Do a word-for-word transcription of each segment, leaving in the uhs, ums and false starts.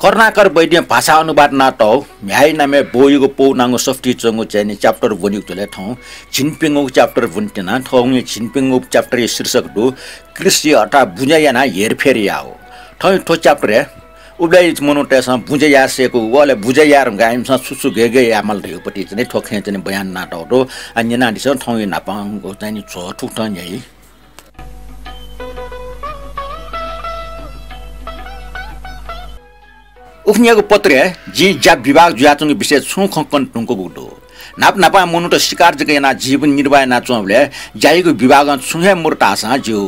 करुणाकर वैद्यं भाषा अनुवाद यानातःगु म्ह्याय् नामय् ब्वःयागु पौ नांगु सफुतिइ च्वंगु चाहिँ नि chapter वनीगु जुल थौं झिंप्यंगू chapter वनेत्यना। थौंया झिंप्यंगू chapter या शीर्षक दु कृषि अर्थात् बुँज्या यानाः हेरफेर याःगु। थौं थ्व chapter य् उबलय् मनूतय्सं बुँज्या याये सय्कू, व अले बुँज्या याये धुंकाः इमिसं छु छु गय् गय् यायेमाल धइगु पति चाहिँ नि थ्व खँय् चाहिँ नि बयान यानातःगु दु। आ, न्यनादिसँ थौंया न्हापांगु चाहिँ नि झ्वः थुकथं न्ह्याइ। उखुन्हुयागु पत्रय् जिं ज्या विभाग जुयाच्वंगु विषयय् छुं खँ कने धुंकूगु दु। न्हापा न्हापां मनूत शिकार जक यानाः जीवन निर्वाह यानाच्वंबलय् ज्यायागु विभागं छुं हे मरु धाःसां ज्यू।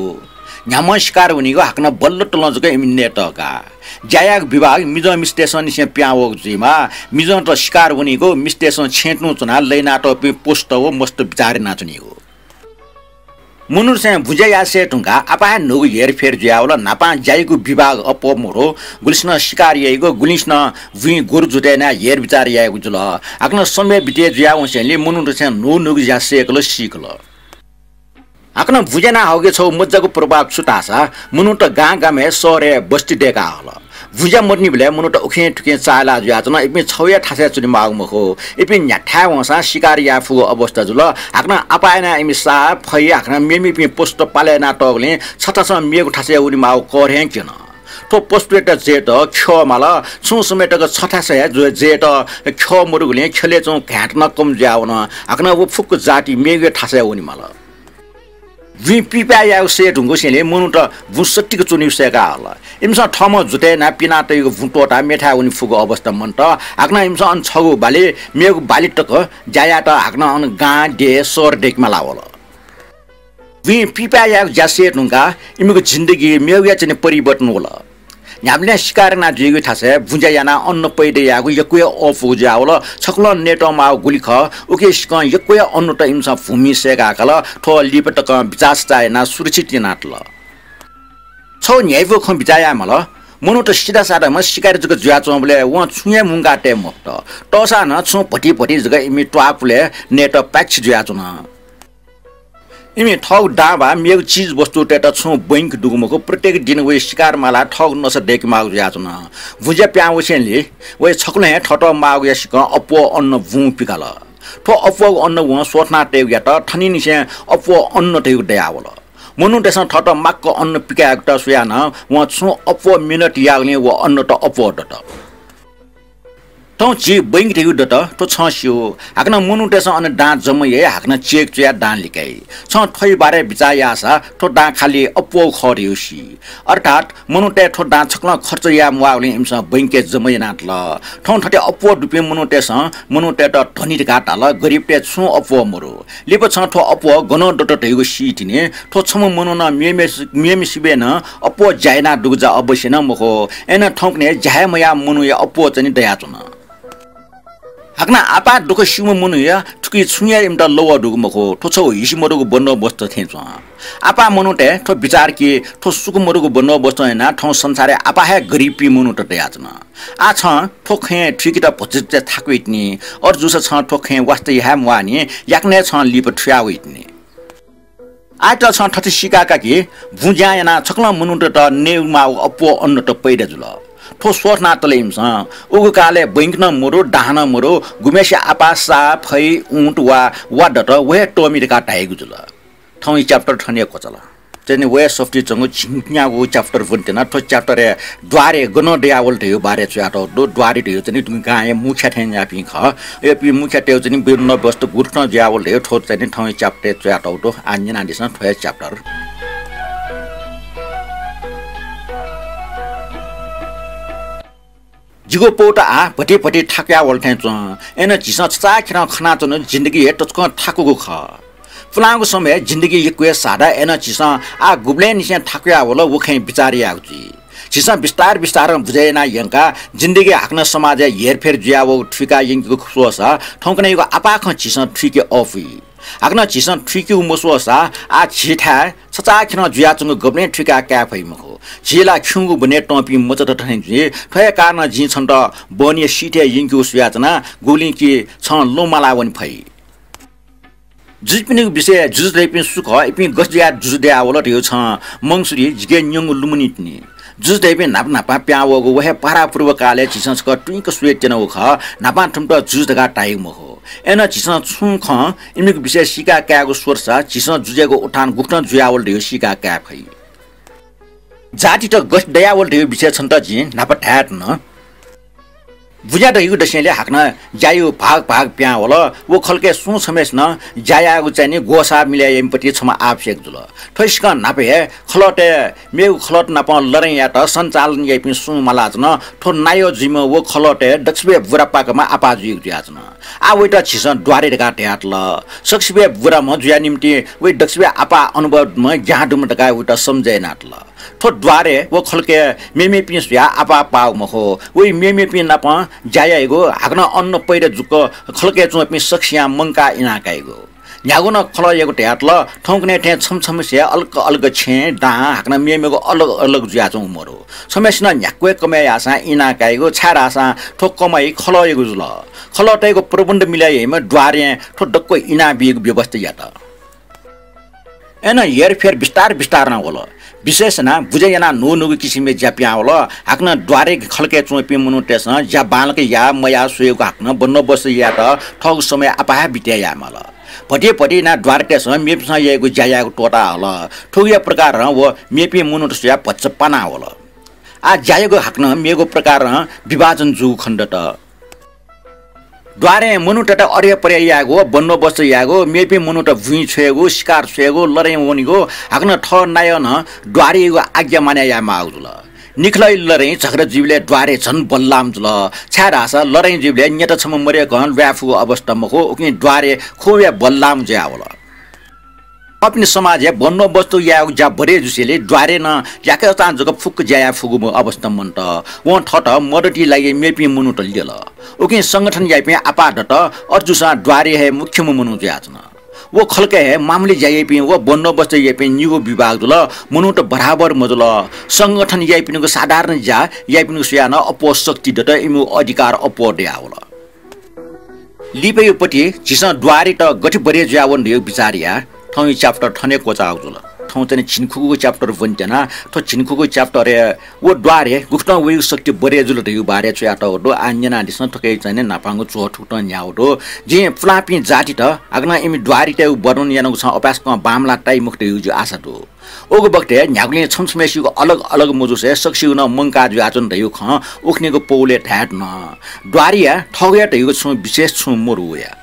न्ह्याम्हं शिकार वनीगु हाकनं बल्ल तलं जक इमि नयेतःका। ज्यायागु विभाग मिजं मिस्तय्संनिसें पिहां वःगु जुइमाः। मिजंत शिकार वनीगु मिस्तय्सं छेँय् तुं च्वनाः लय् यानातःपिं पशुत व मस्त बिचाः यानाच्वनीगु। मनूतय्सं बुँज्या यासें धुंकाः आपाः हे न्हूगु हेरफेर जुयावल। न्हापां ज्यायागु विभाग अप्वः मरु, गुलिसिनं शिकार याइगु, गुलिसिनं बुँइ गोरु जुतय् यानाः हेरबिचार याइगु जुल। हाकनं समय बिते जुयावंसेंलि मनूतय्सं न्हू न्हूगु ज्या सय्कल, सीकल। हाकनं बुँज्या याना हःगु छगू मज्जागु प्रभाव छु धाःसा मनूत गां गामय्, शहरय् बस्ती दय्काः हल। बुँज्या मदुनिबलय् मनूत उखें थुखें चाःहिला जुयाच्वन। इपिं छगू हे थासय् च्वनेमाःगु मखु। इपिं न्ह्याथाय् वंसां शिकार याये फुगु अवस्था जुल। हाकनं आपाः यानाः इमि साः, फै, हाकनं मेमेपिं पशुत पाले यानातःगुलिं छथासं मेगु थासय् वनेमाःगु कर हे क्यन। थ्व पशुतय्त जयेत ख्यः माल। छुं समय तक छथासय् हे जु-, जयेत ख्यः मदुगुलिं ख्यलय् च्वंगु घाँय्त नं कम जुयावन। हाकनं व फुक्क जाति मेगु हे थासय् वनेमाल। बुँइ पिपाय् यायेगु सय् धुंकूसेंलि मनूत बुँ सत्तिक च्वनीगु सय्काः हल। इमिसं थःम्हं जुतय् यानाः पिनातयागु बुँ त्वःताः मेथाय् वने फुगु अवस्था मन्त। हाकनं इमिसं अन छगू बाली, मेगु बाली तक ज्या यायेत हाकनं अन गां, देय्, शहर दय्केमाला वल। बुँइ पिपाय् यायेगु ज्या सय् धुंकाः इमिगु जिन्दगी मेगुया चाहिँ नि परिवर्तन वल। न्ह्याबलें शिकार याना जुइगु थासय् बुँज्या यानाः अन्न पैदा यायेगु यक्व हे अःपुगु जुयावल। छकलं नयेत माःगु गुलि खः, उकिसिकं यक्व हे अन्नत इमिसं भूमिइ सय्काः काल। थ्व लिपा तकं बिचाः सचाः यानाः सुरक्षित यानातल। छगू न्ह्याइपुगु खँ बिचाः याये माल। मनूत सिधासाधाम्ह शिकारी जक जुयाच्वंबलय् वं छुं हे मुंकाः तये मफुत। तःसां नं छुं भति भति जक इमि त्वाःपुलय् नयेत पाय्छि जुयाच्वन। इमि थःगु दां वा मेगु चिजवस्तुतय्त छुं बैंक दुगु मखु। प्रत्येक दिं वइ शिकार मालाः थःगु नसा दय्केमाःगु जुयाच्वन। बुँज्या पिहां वसेंलि वइ छकलं हे थःत माःगुया सिकं अप्वः अन्न बुँ पिकाल। थ्व अप्वःगु अन्न वं स्वथना तयेगुयात थनिंनिसें अप्वः अन्न धइगु दयावल। मनूतय्सं थःत माक्क अन्न पिकायेगुत स्वयाः नं वं छुं अप्वः मेहनत याःगुलिं व अन्नत अप्वः दत। थौं झी बैंक धइगु दत, थ्व छं स्यू। हाकनं मनूतय्सं अन दां जमा याइ, हाकनं चेक च्वयाः दां लिकाइ। छं थ्वया बारे बिचाः याःसा थ्व दां खालि अप्वःगु खः धइगु सी। अर्थात् मनूतय् थ्व दां छकलं खर्च याये म्वाःगुलिं इमिसं बैंकय् जमा यानातल। थौं थथे अप्वः दुपिं मनूतय्सं मनूतय्त धनी धकाः धाल, गरिबतय् छुं अप्वः मरु। लिपा छं थ्व अप्वः गनं दत धइगु सीतिनि। थ्व छम्ह मनुखं मेम्ह, मेम्हय्सिबय् नं अप्वः ज्या यानाः दुगु जा अवश्य नं मखु। अय्नं थौंकन्हय् ज्या हे मयाः मनूया अप्वः चाहिँ नि दयाच्वन। हाकनं आपाः दुःख स्यूम्ह मनूया थुकी छुं हे इमित लवः दुगु मखु। थ्व छगू हिसि मदुगु बन्दोबस्त थें च्वं। आपाः मनूतय् थ्व बिचार कि थ्व सुख मदुगु बन्दोबस्त यानाः थौं संसारय् आपाः हे गरिबपिं मनूत दयाच्वन। आः छं थ्व खँय् थुइकेत भतिचा थाकु वइतिनि। अथे जूसा छं थ्व खँय् वास्ता याये हे म्वाःनि, याकनं हे छं लिपा थुयाः वइतिनि। आःयात छं थथे सीका का कि बुँज्या यानाः छकलं मनूतय्त नयेमाःगु अप्वः अन्नत पैदा जुल। थ्व स्वथनातल इमिसं। उगु कालय् बैंक नं मरु, दां नं मरु, गुम्हय्सिया आपाः साः, फै, ऊँट वा वा दत, व हे तःमि धकाः धाइगु जुल। थौंया chapter थन हे क्वचाल। चाहिँ नि वया सफुतिइ च्वंगु झिंन्यागू chapter वनेत्यना। थ्व chapter-य् द्वारय् गनं दयावल धइगु बारे च्वयातःगु दु। द्वारय् धइगु चाहिँ नि थुगु गांया मुख्य थें याःपिं खः। अय्पिं मुख्यतय् चाहिँ नि बन्दोबस्त गुकथं जुयावल धइगु थ्व चाहिँ नि थौंया chapter-य् च्वयातःगु दु। आः न्यनादिसँ थ्वया chapter। जिगु पौत आः भति भति थाकुया वल थें च्वं। अय्नं झीसं छचाःखेरं खनाच्वनागु जिन्दगी हे तसकं थाकुगु खः। पुलांगु समयय् जिन्दगी यक्व हे सादा, अय्नं झीसं आः गुबलेंनिसें थाकुया वल व खँय् बिचाः यायेगु जुइ। झीसं बिस्तार बिस्तारं बुझे यानाः यंकाः जिन्दगी हाकनं समाजय् हेरफेर जुयावःगु थुइका यंकेगु स्वःसा थौंकन्हय्‌यागु आपाः खँ झीसं थुइके अःपुइ। हाकनं झीसं थुइकेगु मस्वःसा आः झीथाय् छचाःखेरं जुयाच्वंगु गबलें थुइकाः काये फइ मखु। झी ला खिउँगु बने तंपिं मचात थें जुइ। थ्व हे कारणं जिं छन्त बहनीया सिथय् यंकेगु स्वयाच्वना, गुबलें कि छं लँ माला वने फइ। जुजुपिनिगु विषयय् जुजु दइपिं सु खः, इपिं गथे जुयाः जुजु दयावल धइगु छं मंगुसुरि जिके न्यंगु लुमनितिनि। जुजु धइपिं न्हापा न्हापा पिहां वःगु व हे पहरापूर्व कालय् झीसं छकः तुइक स्वये त्यनागु खः, न्हापां थुमित जुजु धकाः धाइगु मखु। अय्नं झीसं छुं खँ इमिगु विषयय् सीका कायेगु स्वःसा झीसं जुजुयागु उत्थान गुकथं जुयावल धइगु सीका काये फइ। जातित गथे दयावल धइगु विषयय् छन्त जिं न्हापा धाये धुन। बुँज्या धइगु दसेंलि हाकनं ज्यायागु भाग भाग पिहां वल। व खलकय् सुं छम्हय्सिनं ज्या यायेगु चाहिँ नि ग्वसाः मिले याइम्ह पति छम्ह आवश्यक जुल। थ्व सिकं न्हापा हे खलःतय् मेगु खलःत नाप लडाइँ यायेत सञ्चालन याइपिं सुं मालाच्वन। थ्व नायः जुइम्ह व खलःतय् दक्वसिबय् बुरापाकम्ह आपाः जुइगु जुयाच्वन। आः वइत झीसं द्वारे धकाः धयातल। सकसिबय् बुराम्ह जुया निम्तिं वइ दक्वसिबय् आपाः अनुभवम्ह ज्ञां दुम्ह धकाः वइत सम्झे यानातल। थ्व द्वारे व खलकय् मेमेपिं स्वयाः आपाः पाःगु मखु। वइ मेमेपिं नाप ज्या याइगु, हाकनं अन्न पैदा जुक खलकय् च्वंपिं सकसियां मंकाः इनाः काइगु। न्ह्यागु नं खलःयागु धयातल। थौंकन्हय् थें छम्ह छम्हसिया अलग अलग छेँ, दां, हाकनं मेमेगु अलग अलग जुयाच्वंगु मदु। छम्हय्सिनं न्ह्याक्व हे कमय् याःसां इनाः काइगु, छाय्धाःसा थ्व कमाइ खलःयागु जुल। खलःतय्गु प्रबन्ध मिले याइम्ह द्वारें थ्व दक्व इनाः बीगु व्यवस्था यात। अय्नं हेरफेर बिस्तार बिस्तारं वल। विशेष यानाः बुँज्या यानाः न्हून्हूगु किसिमया ज्या पिहां वल। हाकनं द्वारे खलकय् च्वंपिं मनूतय्सं ज्या बांलाक याः मयाः स्वयेगु हाकनं बन्दोबस्त यायेत थःगु समय आपाः बिते यायेमाल। भति भति यानाः द्वारेतय्सं मेपिन्सं याइगु ज्या यायेगु त्वःता हल। थुकिया प्रकारं व मेपिं मनूत स्वयाः भचा पाना वल। आः ज्यायागु हाकनं मेगु प्रकारं विभाजन जूगु खनेदत। द्वारें मनूतय्त अर्यापर्या यायेगु, बन्दोबस्त यायेगु, मेपिं मनूत बुँइ छ्वयेगु, सिकार छ्वयेगु, लडाइँ वनेगु, हाकनं थः नायः नं द्वारेयागु आज्ञा मानय् यायेमाःगु जुल। निखलः लडाइँ झगडा जुइबलय् द्वारे झन बल्लाःम्ह जुल, छाय्धाःसा लडाइँ जुइबलय् न्यत छम्ह मदय्कं ल्वाये फुगु अवस्था मखु, उकिं द्वारे खुब हे बल्लाःम्ह जुयावल। अपिनि समाजय् बन्दोबस्त यायेगु ज्या बढे जुसेंलि द्वारे नं याकःचां जक फुक्क ज्या याये फुगु अवस्था मन्त। वं थःत मदतया लागि मेपिं मनूत ल्यल। उकिं संगठन याइपिं आपाः दत। अथे जूसां द्वारे हे मुख्यम्ह मनू जुयाच्वन। व खलकय् हे मामूली ज्या याइपिं व बन्दोबस्त याइपिं निगू विभाग जुल। मनूत बराबर मजुल। संगठन याइपिनिगु साधारण ज्या याइपिनिगु स्वयाः नं अप्वः शक्ति दत, इमिगु अधिकार अप्वः दयावल। लिपाया पति झीसं द्वारेत गथे बढे जुयावन धइगु बिचाः याये। थौंया chapter थन हे क्वचाःगु जुल। थौं चाहिँ झिंखुगूगु chapter ब्वने त्यना। थ्व झिंखुगू chapter य् व द्वारे गुकथं वइगु शक्ति बढे जुल धइगु बारे च्वयातःगु दु। आः न्यनादिसँ, थुकिया चाहिँ न्हापांगु च्वः थुकथं न्ह्याःगु दु। जिं पुलांपिं जातित हाकनं इमि द्वारेतय्गु वर्णन यानागु छं अपाय्सकं बांमलाः ताइ मखु धइगु जिगु आशा दु। उगु बखतय् न्ह्यागुलिं छम्ह छम्हय्सिगु अलग अलग मजुसे सकसिगु नं मंकाः जुयाच्वन धइगु खँ उखुन्हुगु पौलय् धाये धुन। द्वारेया थःगु हे धइगु छुं विशेष छुं मदु वया।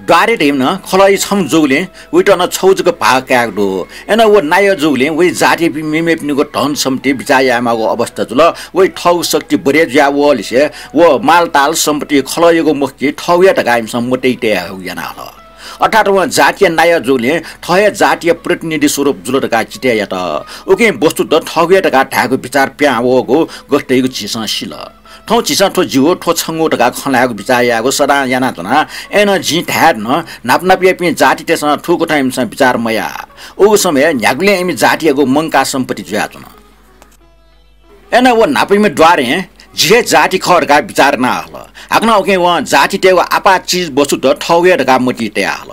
द्वारे धइम्ह नं खलःया छम्ह जूगुलिं वइत नं छगू जक भाग कायेगु दु। अय्नं व नायः जूगुलिं वइ जातियापिं मेमेपिनिगु धन सम्पत्ति बिचाः यायेमाःगु अवस्था जुल। वइ थःगु शक्ति बढे जुयावःलिसे व मालताल सम्पत्ति खलःयागु मखु कि थःगु हे धकाः इमिसं मतय् तये हयेगु याना हल। अर्थात् वं जातिया नायः जूगुलिं थः हे जातिया प्रतिनिधि स्वरूप जुल धकाः चितय् यात। उकिं वस्तुतः थःगु हे धकाः धायेगु बिचाः पिहां वःगु गथे धइगु झीसं सिल। थौं झीसं थ्व जिगु, थ्व छंगु धकाः खँ ल्हायेगु बिचाः यायेगु सदां यानाच्वना। अय्नं जिं धाये धुन, न्हापा न्हापायापिं जातितय्सं थुकथं इमिसं बिचाः मयाः। उगु समयय् न्ह्यागुलिं इमि जातियागु मंकाः सम्पत्ति जुयाच्वन। अय्नं व न्हापायाम्ह द्वारें जि हे जाति खः धकाः बिचाः याना हल। हाकनं उकिं वं जातितय्गु आपाः चिज वस्तुत थःगु हे धकाः मतिइ तया हल।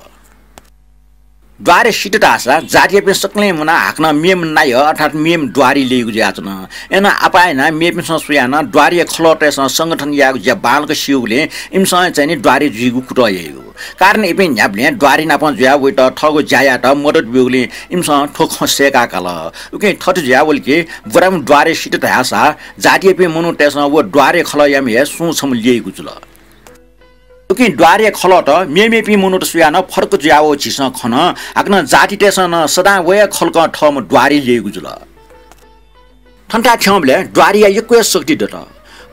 द्वारे सित धाःसा जातियापिं सकलें मुनाः हाकनं मेम्ह नायः अर्थात् मेम्ह द्वारे ल्यइगु जुयाच्वन। अय्नं आपाः यानाः मेपिन्सं स्वयाः नं द्वारेया खलःतय्सं संगठन यायेगु ज्या बांलाक स्यूगुलिं इमिसं चाहिँ नि द्वारे जुइगु कुतः याइगु। कारण इपिं न्ह्याबलें द्वारे नाप जुयाः वइत थःगु ज्या यायेत मदत ब्यूगुलिं इमिसं थ्व खँ सय्‌का काल। उकिं थथे जुयावल कि बुराम्ह द्वारे सित धाःसा जातियापिं मनूतय्सं व द्वारे खलःयाम्ह हे सुं छम्ह ल्यइगु जुल। उकिं द्वारेया खलःत मेमेपिं मनूत स्वयाः नं फरक जुयावःगु झीसं खन। हाकनं जातितय्सं नं सदां व हे खलकं थःम्ह द्वारे ल्यइगु जुल। थन्थाय् थ्यंबलय् द्वारेया यक्व हे शक्ति दत।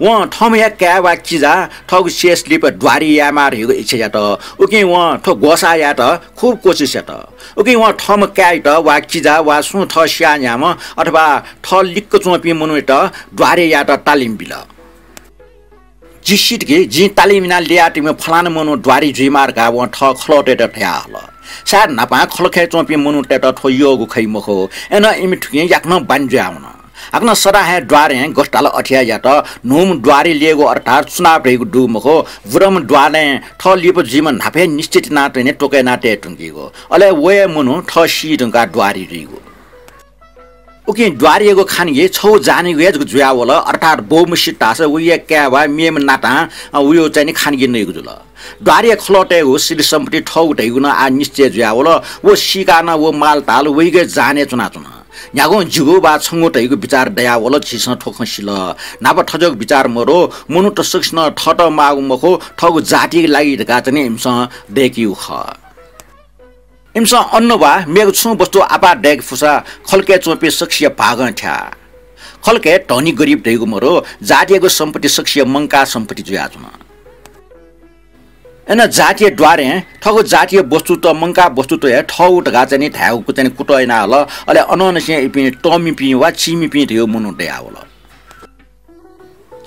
वं थःम्ह हे काय् वा किजा थःगु शेष लिपा द्वारे यायेमाः धइगु इच्छा यात। उकिं वं थ्व ग्वसाः यायेत खुब कोसिस यात। उकिं वं थःम्ह काय्‌यात वा किजा वा सुं थः स्याः न्ह्याम्ह अथवा थः लिक्क च्वंपिं मनूयात द्वारे यायेत तालिम बिल। जि सित कि जिं तालिम यानाः ल्ययातःम्ह फलाना मनू द्वारे जुइमाः धकाः वं थः खलःतय्त धया हल। सायद न्हापां खलखय् च्वंपिं मनूतय्त थ्व यःगु खइ मखु। अय्नं इमि थुकिं याकनं बानी जुयावन। हाकनं सदां हे द्वारें गथे धाल अथे हे यात। न्हूम्ह द्वारे ल्ययेगु अर्थात् चुनाव धइगु दु मखु। बुराम्ह द्वारें थः लिपा जुइम्ह न्हापा हे निश्चित यानाः तयेगु, त्वकय् यानाः तये धुंकीगु। अले व हे मनू थः सी धुंकाः द्वारे जुइगु। उकिं द्वारीयागु खानगी छगू जानेगु हे जक जुयावल, अर्थात् बौम्हसित धाःसा वया काय् वा मेम्ह नातां, अ, वया चाहिँ नि खानगी नइगु जुल। द्वारीया खलःतय्गु सिलि सम्पत्ति थःगु धइगु नं आः निश्चय जुयावल। व सीकाः नं व मालताल वइगु हे जाने च्वनाच्वन। न्ह्यागुं जिगु वा छंगु धइगु बिचार दयावल, झीसं थ्व खँ सिल। न्हापा थज्याःगु बिचार मरु, मनूत सकसिनं थःत माःगु मखु, थःगु जातिया लागि धकाः चाहिँ नि इमिसं दय्कीगु खः। इमिसं अन्न वा मेगु छुं वस्तु आपाः दय्के फुसा खलकय् च्वंपिं सकसिया भागं थ्याः। खलकय् धनी गरिब धइगु मरु, जातियागु सम्पत्ति सकसिया मंकाः सम्पत्ति जुयाच्वन। अन जातिया द्वारें थःगु जातिया वस्तुत, मंकाः वस्तुत हे थःगु धकाः चाहिँ नि धायेगु चाहिँ नि कुतः यानाहल। अले अनंनिसें इपिं तःमिपिं वा चीमिपिं धइगु मनू दयावल।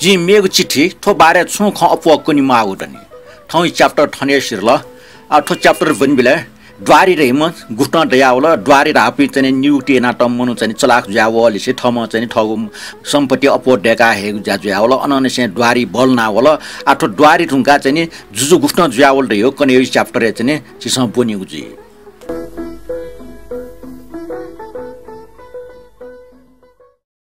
जिं मेगु चिठी थ्व बारे छुं खँ अप्वः कनेमाःगु दनि। थौंया chapter थन हे सिधल। आ, थ्व chapter ब्वनीबलय् द्वारी धइम्ह गुकथं दयावल, द्वारी धाःपिं चाहिँ नि नियुक्ति यानातःम्ह मनू चाहिँ नि चलाख जुयावःलिसे थःम्हं चाहिँ नि थःगु सम्पत्ति अप्वः दय्का हयेगु ज्या जुयावल। अनंनिसें द्वारी बल्लानावल। आ, थ्व द्वारी धुंकाः चाहिँ नि जुजु गुकथं जुयावल धइगु कन्हय्गु chapter-य् चाहिँ नि झीसं ब्वनीगु जुइ।